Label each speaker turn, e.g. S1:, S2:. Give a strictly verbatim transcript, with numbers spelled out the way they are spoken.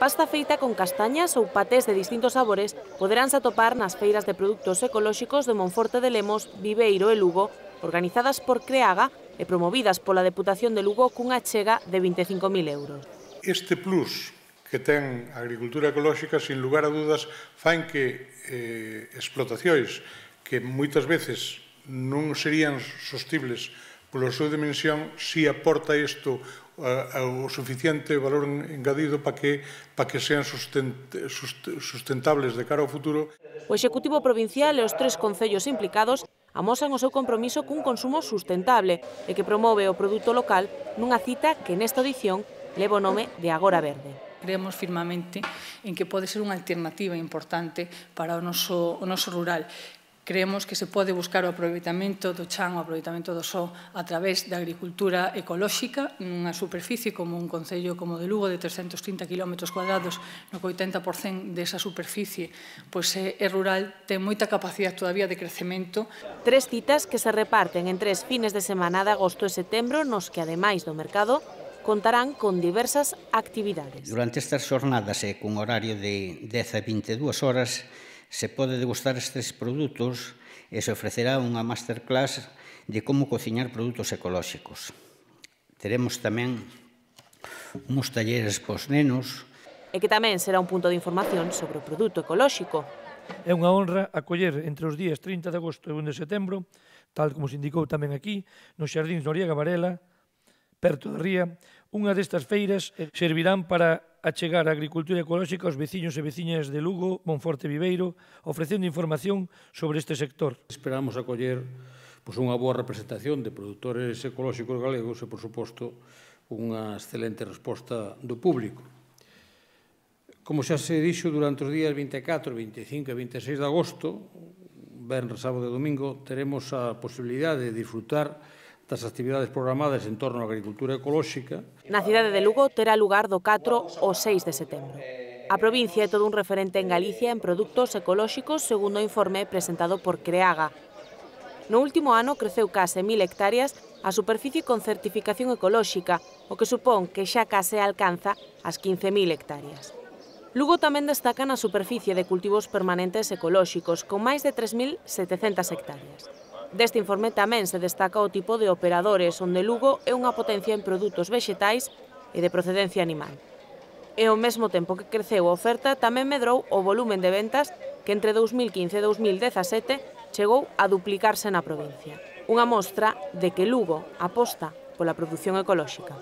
S1: pasta feita con castañas ou patés de distintos sabores poderánse atopar nas feiras de produtos ecolóxicos de Monforte de Lemos, Viveiro e Lugo, organizadas por Creaga e promovidas pola Deputación de Lugo cunha achega de vinte e cinco mil euros.
S2: Este plus que ten a agricultura ecolóxica, sin lugar a dudas, fan que eh, explotacións que moitas veces non serían sostibles pola súa dimensión, si aporta isto o suficiente valor engadido para que, para que sean sustentables de cara ao futuro.
S1: O Executivo Provincial e os tres concellos implicados amosan o seu compromiso cun consumo sustentable e que promove o produto local nunha cita que nesta edición leva o nome de Agora Verde.
S3: Creemos firmemente en que pode ser unha alternativa importante para o noso, o noso rural. Creemos que se pode buscar o aproveitamento do chan, o aproveitamento do só a través da agricultura ecolóxica nunha superficie como un concello como de Lugo de trescentos trinta quilómetros cuadrados, no que oitenta por cento desa superficie pois é rural, ten moita capacidade todavía de crecemento.
S1: Tres citas que se reparten en tres fines de semana de agosto e setembro nos que, ademais do mercado, contarán con diversas actividades.
S4: Durante estas xornadas e cun horario de dez a vinte e dúas horas se pode degustar estes produtos e se ofrecerá unha masterclass de como cociñar produtos ecolóxicos. Teremos tamén uns talleres pos nenos.
S1: E que tamén será un punto de información sobre o produto ecolóxico.
S5: É unha honra acoller entre os días trinta de agosto e un de setembro, tal como se indicou tamén aquí, nos Xardíns Noriega Varela, perto da ría, unha destas feiras servirán para achegar a agricultura ecolóxica aos veciños e veciñas de Lugo, Monforte e Viveiro, ofrecendo información sobre este sector.
S6: Esperamos acoller pois, unha boa representación de produtores ecolóxicos galegos e, por suposto, unha excelente resposta do público. Como xa se dixo, durante os días vinte e catro, vinte e cinco e vinte e seis de agosto, venres, sábado e domingo, teremos a posibilidade de disfrutar das actividades programadas en torno á agricultura ecolóxica.
S1: Na cidade de Lugo terá lugar do catro ao seis de setembro. A provincia é todo un referente en Galicia en produtos ecolóxicos, segundo o informe presentado por Creaga. No último ano creceu case mil hectáreas a superficie con certificación ecolóxica, o que supón que xa case alcanza as quince mil hectáreas. Lugo tamén destaca na superficie de cultivos permanentes ecolóxicos, con máis de tres mil setecentas hectáreas. Deste informe tamén se destaca o tipo de operadores, onde Lugo é unha potencia en produtos vexetais e de procedencia animal. E ao mesmo tempo que creceu a oferta, tamén medrou o volumen de ventas que entre dous mil quince e dous mil dezasete chegou a duplicarse na provincia. Unha mostra de que Lugo aposta pola produción ecolóxica.